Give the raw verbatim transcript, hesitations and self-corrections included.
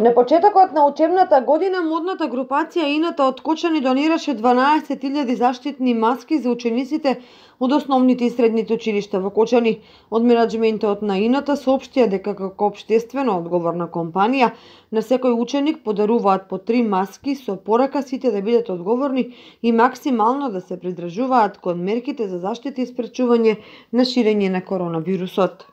На почетокот на учебната година модната групација Ината од Кочани донираше дванаесет илјади заштитни маски за учениците од основните и средните училишта во Кочани. Од менаџментот на Ината соопштија дека како општествено одговорна компанија на секој ученик подаруваат по три маски со порака сите да бидат одговорни и максимално да се придржуваат кон мерките за заштита и спречување на ширење на коронавирусот.